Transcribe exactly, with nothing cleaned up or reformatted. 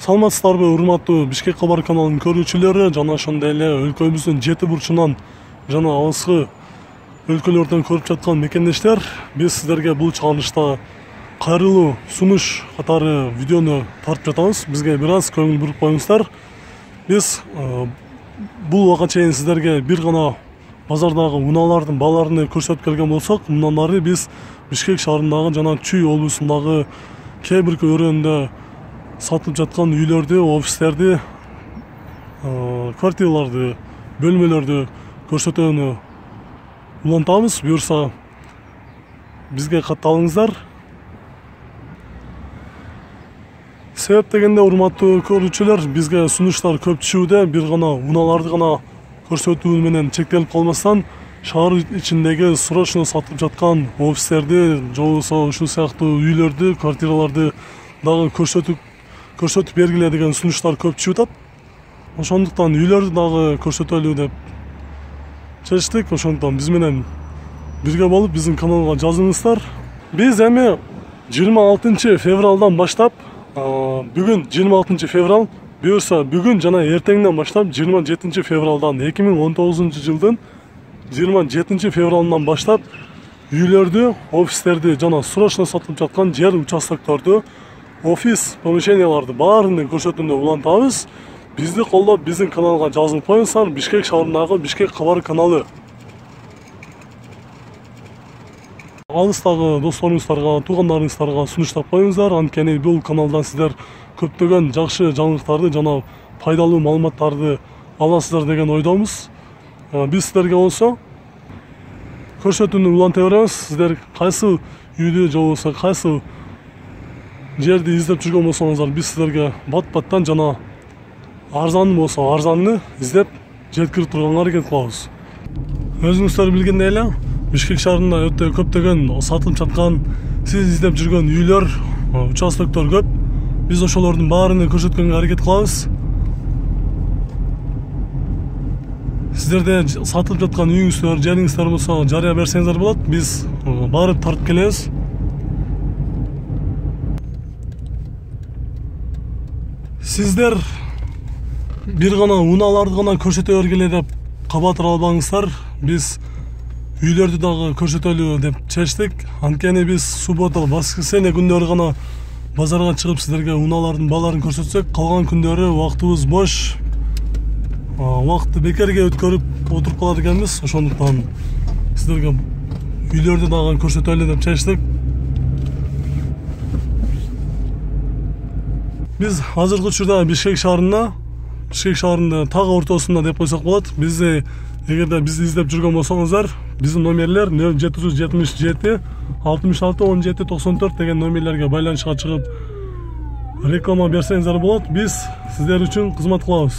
Саламатсыздарбы, урматтуу Бишкек кабар каналынын көрүүчүлөрү жана ошондой эле өлкөбүздүн жети бурчунан жана алыскы өлкөлөрдөн көрүп жаткан мекендештер, биз сиздерге бул чыгарылышта кайрылуу сунуш катары видеону тартып жатабыз. Бизге бир аз көңүл буруп коюңуздар. Биз бул убакка чейин сиздерге бир гана базардагы унаалардын бааларын көрсөтүп келген болсок, мындан ары биз Бишкек шаарындагы жана Чүй облусундагы кээ бир өрөөндө сатылып жаткан үйлөрдү, офистерди, квартираларды, бөлмөлөрдү көрсөтүүнү улантабыз. Буюрса бизге катталыңыздар. Себеп дегенде, урматтуу көрүүчүлөр, бизге сунуштар көп түшүүдө, бир гана унааларды гана көрсөтүү менен чектелип калмастан, шаар ичиндеги срочно сатылып жаткан офистерди, же болбосо ушул сыяктуу үйлөрдү, квартираларды дагы көрсөтүп көрсөтүп бергиле деген сунуштар көп түшүп атат. Ошондуктан үйлөрдү дагы көрсөтөлү деп чечтик. Ошондуктан биз менен бирге болуп биздин каналга жазылыңыздар. Биз эми жыйырма алтынчы февралдан баштап, бүгүн жыйырма алтынчы феврал, буюрса бүгүн жана эртеңден баштап жыйырма жетинчи февралдан эки миң он тогузунчу жылдын жыйырма жетинчи февралынан баштап үйлөрдү, офистерди жана срочно сатылып жаткан жер участокторду, офис помещенияларды баарын көрсөтүүнү улантабыз. Бизди колдоп, биздин каналга жазылып коюңуздар. Бишкек шаарындагы Бишкек кабар каналы. Алыстагы досторуңуздарга, туугандарыңыздарга сунуштап коюңуздар. Анткени бул каналдан сиздер көптөгөн жакшы жаңылыктарды жана пайдалуу маалыматтарды аласыздар деген ойдомуз. Биз сиздерге болсо көрсөтүүнү уланта беребиз. Сиздер кайсы үйдү же болбосо кайсы жерди издеп жүргөн болсоңуздар, биз сиздерге бат-баттан жана арзан болсо арзанны издеп жеткирип турганга аракет кылабыз. Өзүңүздөр билгендей эле, Бишкек шаарында өтө көптөгөн сатылып жаткан, сиз издеп жүргөн үйлөр, участоктор көп. Биз ошолордун баарын көрсөткөнгө аракет кылабыз. Сиздерде сатылып жаткан үйүңүздөр, жериңиздер болсо жарыя берсеңиздер болот. Биз барып тартып келебиз. Сиздер бир гана унааларды гана көрсөтө бергиле деп кабатыр албаңыздар. Биз үйлөрдү дагы көрсөтөлү деп чечтик. Анткени биз суббота, воскресенье күндөрү гана базарга чыгып сиздерге унаалардын бааларын көрсөтсөк, калган күндөрү убактыбыз бош, убакытты бекерге өткөрүп отуруп калат экенбиз. Ошондуктан сиздерге үйлөрдү дагы көрсөтөлү деп чечтик. Биз азыркы учурда Бишкек шаарында, Бишкек шаарында тагы ортосунда деп койсок болот. Бизди эгерде бизди издеп жүргөн болсоңуздар, биздин номерлер нөл жети жүз жетимиш жети алтымыш алты он жети токсон төрт деген номерлерге байланышка чыгып реклама берсеңиздер болот. Биз сиздер үчүн кызмат кылабыз.